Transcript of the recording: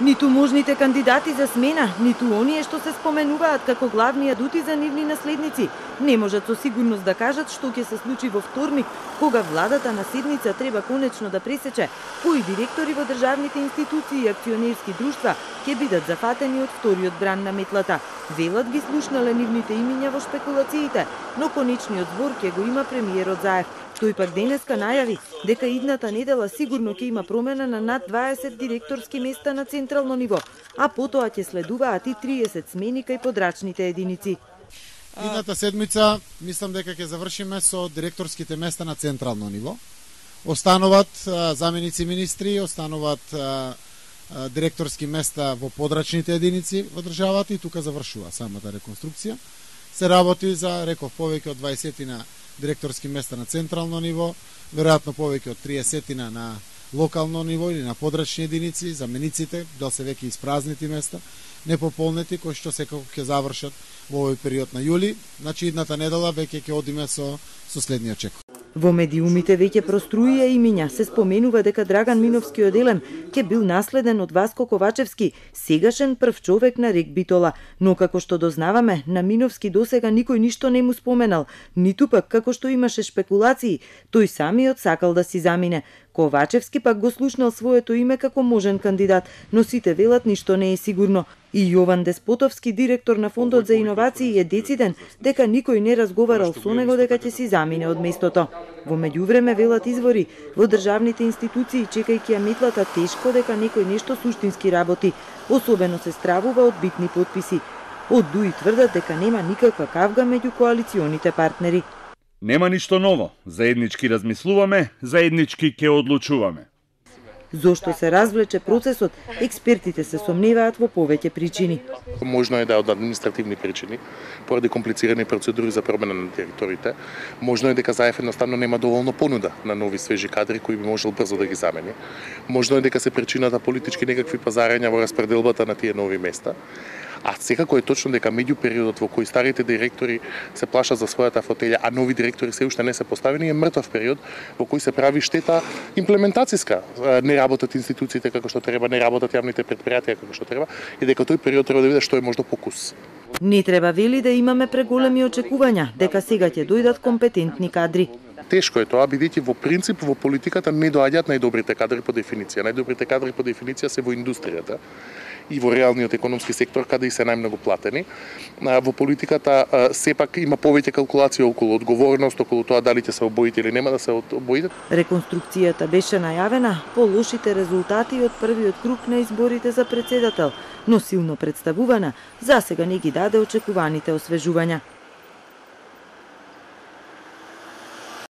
Ниту можните кандидати за смена, ниту оние што се споменуваат како главни адути за нивни наследници, не можат со сигурност да кажат што ќе се случи во вторник, кога владата на седница треба конечно да пресече кои директори во државните институции и акционерски друштва ќе бидат зафатени од вториот бран на метлата. Велат ги слушнале нивните имиња во шпекулациите, но конечниот збор ќе го има премиерот Заев. Тој пак денеска најави дека идната недела сигурно ќе има промена на над 20 директорски места на централно ниво, а потоа ќе следуваат и 30 смени кај подрачните единици. Идната седмица мислам дека ќе завршиме со директорските места на централно ниво. Остануваат заменици министри, остануваат директорски места во подрачните единици во државата и тука завршува самата реконструкција. Се работи за, реков, повеќе од 20 директорски места на централно ниво, веројатно повеќе од 30 на локално ниво или на подрачни единици, замениците, да се веќе испразнити места, непополнети, кои што секако ќе завршат во овој период на јули. Значи, идната недела веќе ќе одиме со следниот чек. Во медиумите веќе проструија имиња. Се споменува дека Драган Миновскиот елем ќе бил наследен од Васко Ковачевски, сегашен прв човек на Рек Битола. Но како што дознаваме, на Миновски досега никој ништо не му споменал, ниту пак како што имаше шпекулации, тој самиот сакал да си замине. Ковачевски пак го слушнал своето име како можен кандидат, но сите велат ништо не е сигурно. И Јован Деспотовски, директор на Фондот за иновации, е дециден дека никој не разговарал со него дека ќе си замине од местото. Во меѓувреме велат извори во државните институции, чекајќи ја метлата, тешко дека некој нешто суштински работи, особено се стравува од битни потписи. Од ДУИ тврдат дека нема никаква кавга меѓу коалиционите партнери. Нема ништо ново. Заеднички размислуваме, заеднички ќе одлучуваме. Зошто се развлече процесот, експертите се сомневаат во повеќе причини. Можно е да е од административни причини, поради комплицирани процедури за промена на директорите. Можно е дека Заев едноставно нема доволно понуда на нови свежи кадри кои би можел брзо да ги замени. Можно е дека се причината политички некакви пазарења во распределбата на тие нови места. А секако е точно дека меѓу периодот во кој старите директори се плашат за својата фотелја, а нови директори се уште не се поставени, е мртов период во кој се прави штета имплементациска. Не работат институциите како што треба, не работат јавните претпријатија како што треба, и дека тој период треба да биде што е можно покус. Не треба, вели, да имаме преголеми очекувања дека сега ќе дојдат компетентни кадри. Тешко е тоа, бидејќи во принцип во политиката не доаѓаат најдобрите кадри по дефиниција. Најдобрите кадри по дефиниција се во индустријата и во реалниот економски сектор, каде и се најмногу платени. Во политиката сепак има повеќе калкулација околу одговорност, околу тоа дали ќе се обоите или нема да се обоите. Реконструкцијата беше најавена по лошите резултати од првиот круг на изборите за претседател, но силно представувана, засега не ги даде очекуваните освежувања.